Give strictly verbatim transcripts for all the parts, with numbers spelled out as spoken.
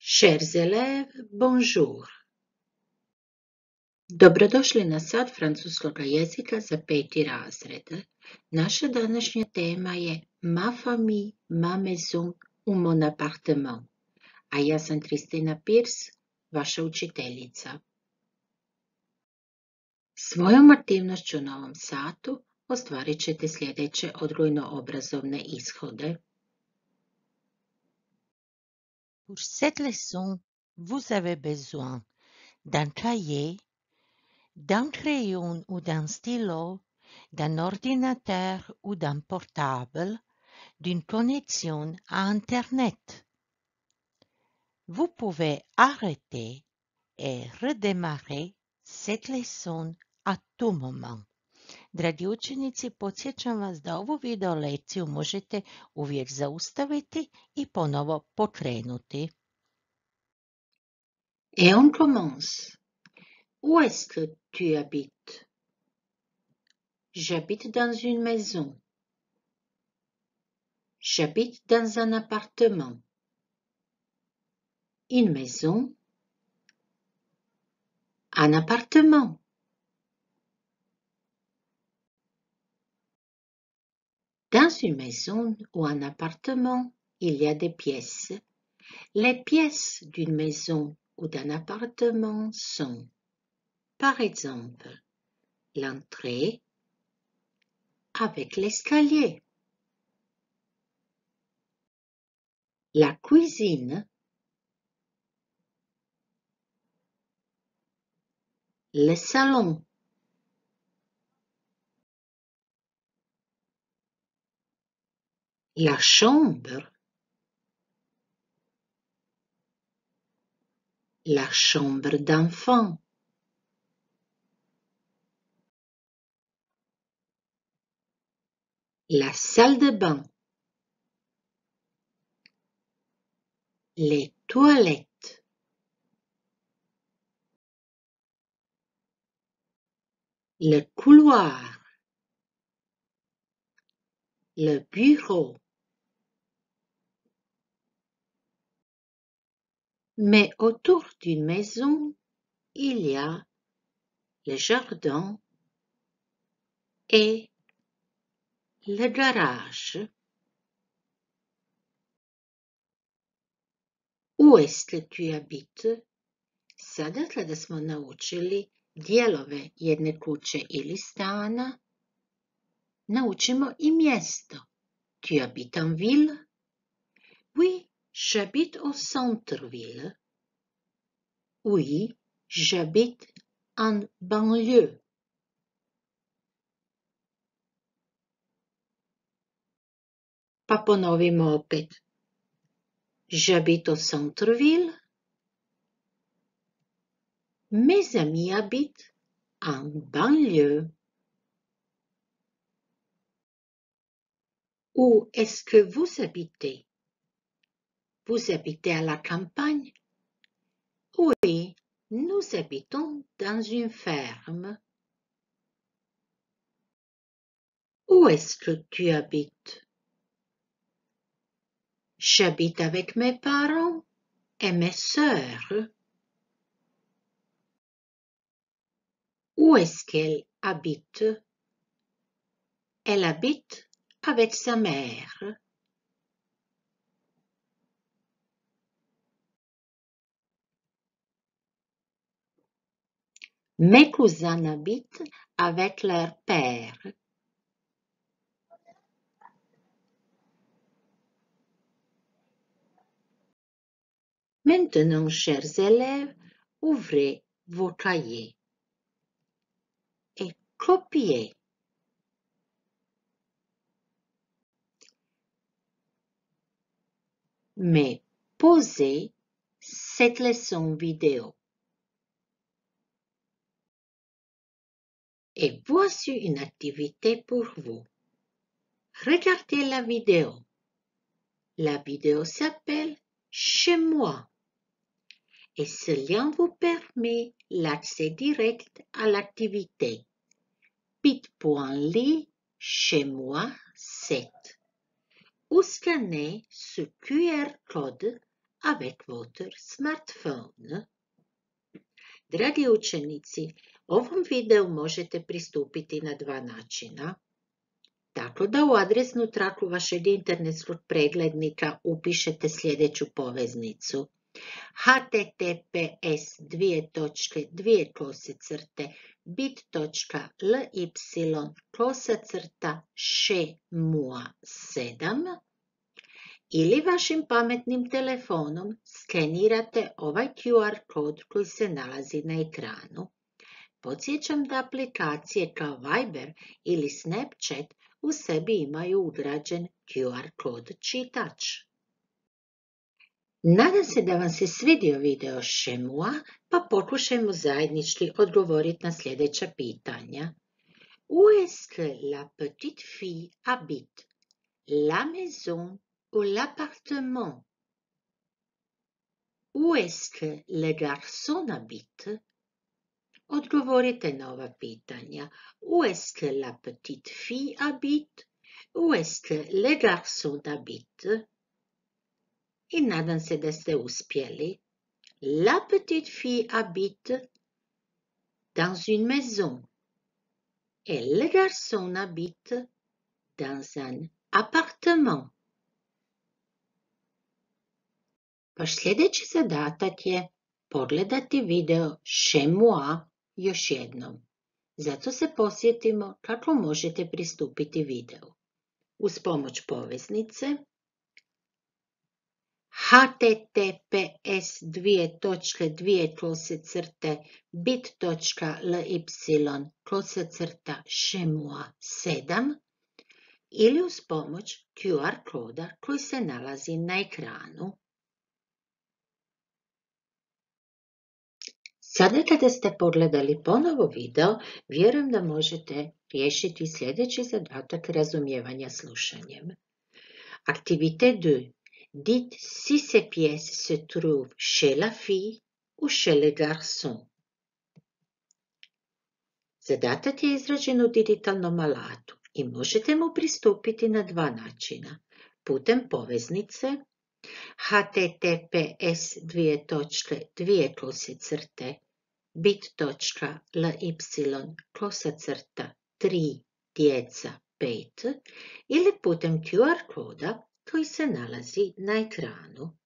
Chers élèves, bonjour. Dobrodošli na sat francuskog jezika za peti razred. Naša današnja tema je Ma famille, ma maison ou mon appartement. A ja sam Kristina Pierce, vaša učiteljica. Svojom aktivnošću na ovom satu ostvarit ćete sljedeće odgojno-obrazovne ishode. Pour cette leçon, vous avez besoin d'un cahier, d'un crayon ou d'un stylo, d'un ordinateur ou d'un portable, d'une connexion à Internet. Vous pouvez arrêter et redémarrer cette leçon à tout moment. Dragi učenici, podsjećam vas da ovu video lekciju možete uvijek zaustaviti i ponovo pokrenuti. Et on commence. Où est-ce que tu habites? J'habite dans une maison. J'habite dans un appartement. Une maison. Un appartement. Dans une maison ou un appartement, il y a des pièces. Les pièces d'une maison ou d'un appartement sont, par exemple, l'entrée avec l'escalier, la cuisine, le salon, la chambre, la chambre d'enfant, la salle de bain, les toilettes, le couloir, le bureau. Mais autour d'une maison, il y a le jardin et le garage. Où est-ce que tu habites? Sada kada smo naučili dijelove jedne kuće ili stana, naučimo i mjesto. Tu habites en ville? Oui, j'habite au centre-ville. Oui, j'habite en banlieue. Pa ponovimo opet. J'habite au centre-ville. Mes amis habitent en banlieue. Où est-ce que vous habitez? Vous habitez à la campagne? Oui, nous habitons dans une ferme. Où est-ce que tu habites? J'habite avec mes parents et mes sœurs. Où est-ce qu'elle habite? Elle habite avec sa mère. Mes cousins habitent avec leur père. Maintenant, chers élèves, ouvrez vos cahiers et copiez. Mais posez cette leçon vidéo. Et voici une activité pour vous. Regardez la vidéo. La vidéo s'appelle Chez moi. Et ce lien vous permet l'accès direct à l'activité. bit.ly chez moi sept. Ou scannez ce Q R code avec votre smartphone. Dragi učenici, ovom videu možete pristupiti na dva načina. Tako da u adresnu traku vašeg internetskog preglednika upišete sljedeću poveznicu: https dvije točke dvije kosacrte bit.ly kosacrta šemua sedam ili vašim pametnim telefonom skenirate ovaj Q R kod koji se nalazi na ekranu. Podsjećam da aplikacije kao Viber ili Snapchat u sebi imaju ugrađen Q R kod čitač. Nadam se da vam se svidio video Šemua, pa pokušajmo zajednički odgovoriti na sljedeća pitanja. Où est-ce que la petite fille habite? La maison ou l'appartement? Où est-ce que le garçon habite? Odgovorite na ova pitanja. Où est-ce que la petite fille habite? Où est-ce que le garçon habite? I nadam se da ste uspjeli. La petite fille habite dans une maison. Et le garçon habite dans un appartement. Vaš sljedeći zadatak je pogledati video Chez moi još jednom. Zato se posjetimo kako možete pristupiti videu. Uz pomoć poveznice https dvije točke dvije kosacrte bit.ly kosacrta šemua sedam ili uz pomoć Q R koda koji se nalazi na ekranu. Sada kada ste pogledali ponovo video, vjerujem da možete riješiti sljedeći zadatak razumijevanja slušanjem. Activité deux. Dites si ces pièces se trouvent chez la fille ou chez le garçon. Zadatak je izrađen u digitalnom alatu i možete mu pristupiti na dva načina. Putem poveznice https dvije točke dvije kosacrte bit.ly kosacrta tri djeca pet ili putem Q R koda koji se nalazi na ekranu.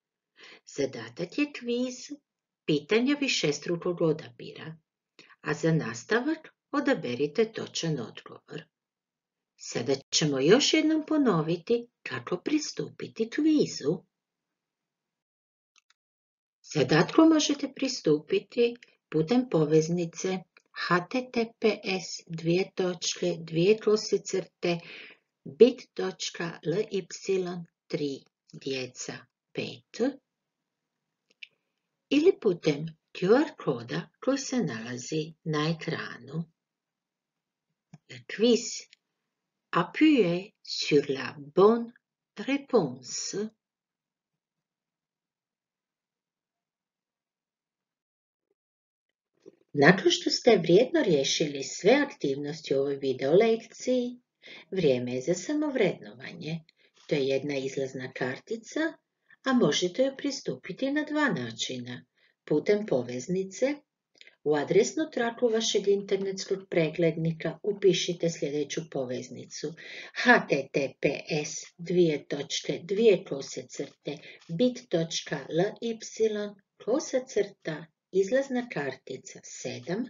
Zadatak je kviz, pitanja višestrukog odabira, a za nastavak odaberite točan odgovor. Sada ćemo još jednom ponoviti kako pristupiti kvizu. Zadatku možete pristupiti putem poveznice https dvije točke dvije kosacrte bit.ly tri djeca pet ili putem Q R koda koji se nalazi na ekranu. Le quiz. Appuyez sur la bonne réponse. Nakon što ste vrijedno riješili sve aktivnosti u ovoj video lekciji, vrijeme je za samovrednovanje. To je jedna izlazna kartica, a možete joj pristupiti na dva načina. Putem poveznice, u adresnu traku vašeg internetskog preglednika upišite sljedeću poveznicu https dvije točke dvije kosacrte bit.ly kosacrta izlazna kartica sedam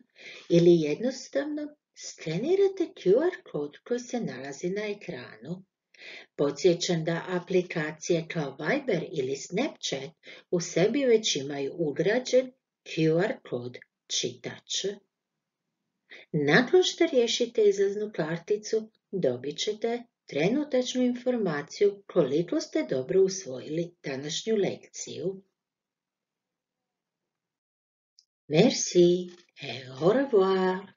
ili jednostavno skenirate Q R kod koji se nalazi na ekranu. Podsjećam da aplikacije kao Viber ili Snapchat u sebi već imaju ugrađen Q R kod čitač. Nakon što riješite izlaznu karticu, dobit ćete trenutačnu informaciju koliko ste dobro usvojili današnju lekciju. Merci et au revoir.